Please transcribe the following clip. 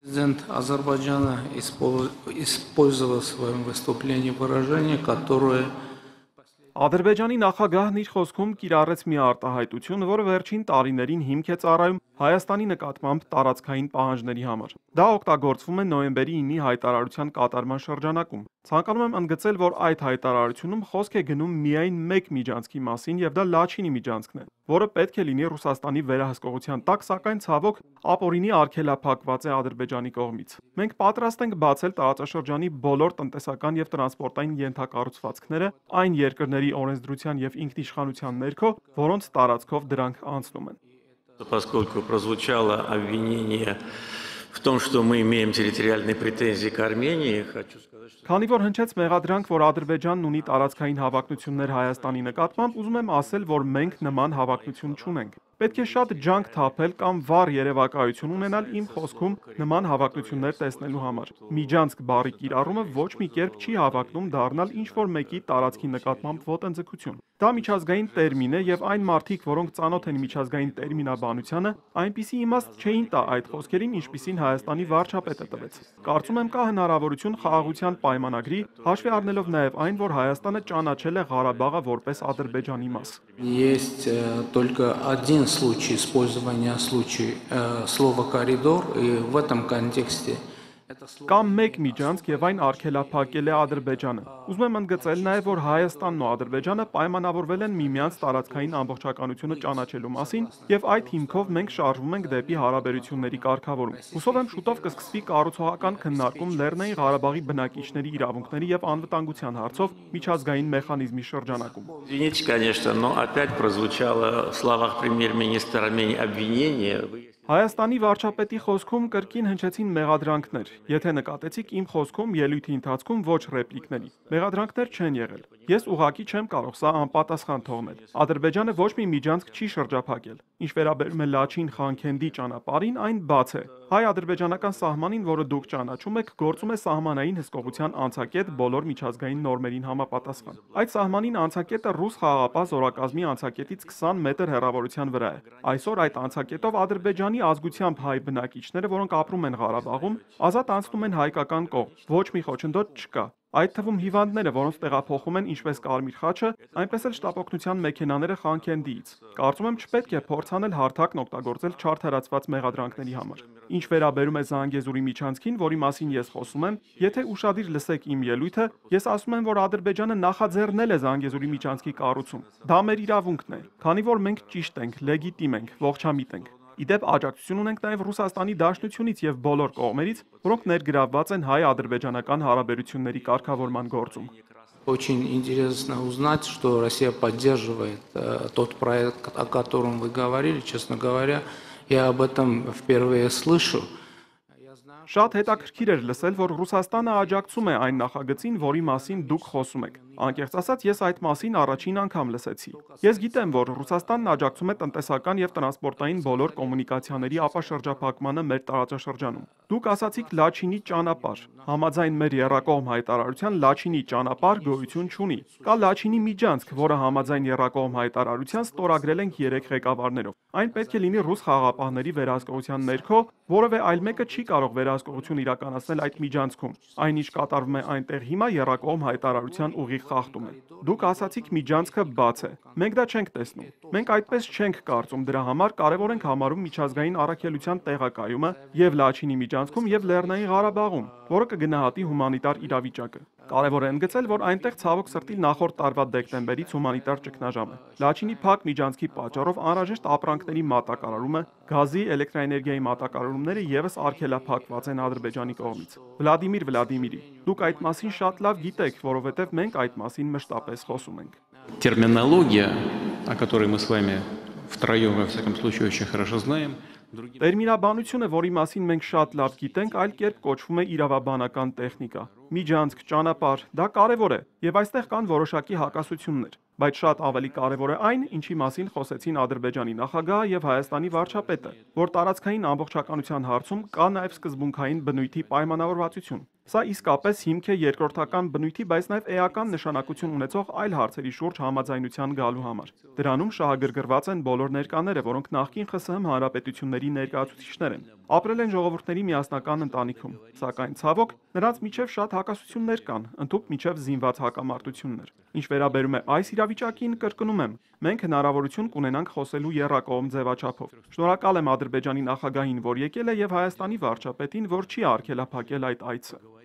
Президент Азербайджана использовал в своем выступлении выражение, которое Ադրբեջանի նախագահն իր խոսքում կիրառեց մի արտահայտություն, որը վերջին տարիներին հիմք է ծառայում Հայաստանի նկատմամբ տարածքային պահանջների համար։ Դա օգտագործվում է նոյեմբերի 9-ի հայտարարության կատարման շրջանակում։ Ցանկանում եմ ընդգծել, որ այդ հայտարարությունում խոսք է գնում միայն մեկ միջանցքի մասին, եւ դա Լաչինի միջանցքն է, որը պետք է լինի Ռուսաստանի վերահսկողության տակ, սակայն ցավոք ապօրինի արգելափակված է Ադրբեջանի կողմից։ Մենք պատրաստ ենք բացել տարածաշրջանի բոլոր տնտեսական եւ տրանսպորտային ենթակառուցվածքները այն երկրների օրենսդրության եւ ինքնիշխանության ներքո, որոնց տարածքով դրանք անցնում են։ Поскольку прозвучало обвинение в том, что мы имеем территориальные претензии к Армении, хочу сказать, что... Քանի որ հնչեց մեղադրանք, որ Ադրբեջանն ունի տարածքային հավակնություններ Հայաստանի նկատմամբ, ուզում եմ ասել, որ մենք նման հավակնություն չունենք։ Պետք է շատ ջանք թափել կամ վառ երևակայություն ունենալ իմ խոսքում նման հավակնություններ տեսնելու համար։ Միջանցք բառի կիրառումը ոչ մի կերպ չի հավակնում դառնալ ինչ-որ մեկի տարածքի նկատմամբ ոտնձգություն։ Դա միջազգային տերմին է եւ այն մարդիկ, որոնք ծանոթ են միջազգային տերմինաբանությանը, այնպիսի իմաստ չէին տա այդ խոսքերին, ինչպիսին Հայաստանի վարչապետը տվեց։ Կարծում եմ կա հնարավորություն խաղաղության պայմանագրի, հաշվի առնելով նաեւ այն, որ Հայաստանը ճանաչել է Ղարաբաղը որպես Ադրբեջանի մաս։ есть только один случай использования слова «коридор», и в этом контексте Կամ մեկ միջանցք եւ այն արգելափակել է Ադրբեջանը։ Ուզում եմ ընդգծել նաեւ, որ Հայաստանն ու Ադրբեջանը պայմանավորվել են միմյանց տարածքային ամբողջականությունը ճանաչելու մասին եւ այդ հիմքով մենք շարժվում ենք դեպի հարաբերությունների կարգավորում։ Հուսով եմ շուտով կսկսվի կառուցողական քննարկում Լեռնային Ղարաբաղի բնակիչների իրավունքների եւ անվտանգության հարցով միջազգային մեխանիզմի շրջանակում։ Извините, конечно, но опять прозвучало в словах премьер-министра Армении обвинение. Հայաստանի վարչապետի խոսքում կրկին հնչեցին մեղադրանքներ։ Եթե նկատեցիք իմ խոսքում ելույթի ընթացքում ոչ ռեպլիկների։ Մեղադրանքներ չեն եղել։ Ես ուղղակի չեմ կարող սա անպատասխան թողնել։ Ադրբեջանը ոչ մի միջանցք չի շրջափակել։ Ինչ վերաբերում է Լաչին-Խանքենդի ճանապարհին, այն բաց է։ Հայ-ադրբեջանական սահմանին, որը դուք ճանաչում եք, գործում է սահմանային հսկողության անցակետ բոլոր միջազգային նորմերին համապատասխան։ Այդ սահմանին անցակետը ռուս խաղաղապահ զորակազմի անցակետից 20 մետր հեռավորության վրա է։ Այսօր այդ անցակետով Ադրբեջանի ազգությամբ հայ բնակիչները, որոնք ապրում են Ղարաբաղում, ազատ անցնում են հայկական կողմ։ Ոչ մի խոչընդոտ չկա։ Այդ թվում հիվանդները, որոնց տեղափոխում են ինչպես Կարմիր խաչը, այնպես էլ շտապօգնության մեքենաները Խանքենդիից։ Կարծում եմ չպետք է փորձանել հարթակն օգտագործել չարթարացված մեղադրանքների համար։ Ինչ վերաբերում է Զանգեզուրի միջանցքին, որի մասին ես խոսում եմ, եթե ուշադիր լսեք իմ ելույթը, ես ասում եմ, որ Ադրբեջանը նախաձեռնել է Զանգեզուրի միջանցքի կառուցում։ Դա մեր իրավունքն է, քանի որ մենք ճիշտ ենք, լեգիտիմ ենք, ողջամիտ ենք։ Իդեպ աջակցություն ունենք նաև Ռուսաստանի Դաշնությունից եւ բոլոր կողմերից, որոնք ներգրավված են հայ-ադրբեջանական հարաբերությունների կարգավորման գործում։ очень интересно узнать, что Россия поддерживает тот проект, о котором вы говорили. Честно говоря, я об этом впервые слышу. Շատ հետաքրքիր էր լսել, որ Ռուսաստանը աջակցում է այն նախագծին, որի մասին դուք խոսում եք։ Անկեղծ ասած, ես այդ մասին առաջին անգամ լսեցի։ Ես գիտեմ, որ Ռուսաստանն աջակցում է տնտեսական եւ տրանսպորտային բոլոր կոմունիկացիաների ապաշրջափակմանը մեր տարածաշրջանում։ Դուք ասացիք Լաչինի ճանապարհ։ Համաձայն մեր եռակողմ հայտարարության Լաչինի ճանապարհ գոյություն չունի։ Կա Լաչինի միջանցք, որը համաձայն եռակողմ հայտարարության ստորագրել ենք 3 ղեկավարներով։ Այն պետք է լինի ռուս խաղաղապահների վերահսկողության ներքո, որևէ այլ մեկը չի կարող վերահսկողություն իրականացնել այդ միջանցքում։ Այն ինչ կատարվում է այնտեղ հիմա եռակողմ հայտարարության ուղիղ խախտում է։ Դուք ասացիք միջանցքը բաց է։ Մենք դա չենք տեսնում։ Մենք այդպես չենք կարծում, դրա համար կարևոր ենք համարում միջազգային առաքելության տեղակայումը եւ Լաչինի միջանցքում եւ Լեռնային Ղարաբաղում, որը կգնահատի հումանիտար իրավիճակը։ Կարևոր է ընդգծել, որ այնտեղ ցավոք սրտի նախորդ տարվա դեկտեմբերից հումանիտար ճգնաժամ է։ Լաչինի փակ միջանցքի պատճառով անհրաժեշտ ապրանքների մատակարարումը, գազի, էլեկտրաէներգիայի մատակարարումները եւս արգելափակված են Ադրբեջանի կողմից։ Վլադիմիր Վլադիմիրի, դուք այդ մասին շատ լավ գիտեք, որովհետեւ մենք այդ մասին մշտապես խոսում ենք։ Терминология, о которой мы с вами втроем, во всяком случае, очень хорошо знаем. Տերմինաբանությունը, որի մասին մենք շատ լավ գիտենք, այլ կերպ կոչվում է իրավաբանական տեխնիկա։ Միջանցք, ճանապարհ, դա կարևոր է, եւ այստեղ կան որոշակի հակասություններ, բայց շատ ավելի կարևոր է այն, ինչի մասին խոսեցին Ադրբեջանի նախագահը եւ Հայաստանի վարչապետը, որ տարածքային ամբողջականության հարցում կա նաեւ սկզբունքային բնույթի պայմանավորվածություն։ Սա իսկապես հիմք է երկրորդական բնույթի, բայց նաև էական նշանակություն ունեցող այլ հարցերի շուրջ համաձայնության գալու համար։ Դրանում շահագրգռված են բոլոր ներկաները, որոնք նախկին ԽՍՀՄ հանրապետությունների ներկայացուցիչներ են։ Ապրել են ժողովուրդների միասնական ընտանիքում, սակայն ցավոք նրանց միջև շատ հակասություններ կան, ընդհուպ միջև զինված հակամարտություններ։ Ինչ վերաբերում է այս իրավիճակին, կրկնում եմ, մենք հնարավորություն կունենանք խոսելու եռակողմ ձևաչափով։ Շնորհակալ եմ Ադրբեջանի նախագահին, որ եկել է, եւ Հայաստանի վարչապետին, որ չի արգելափակել այդ այցը։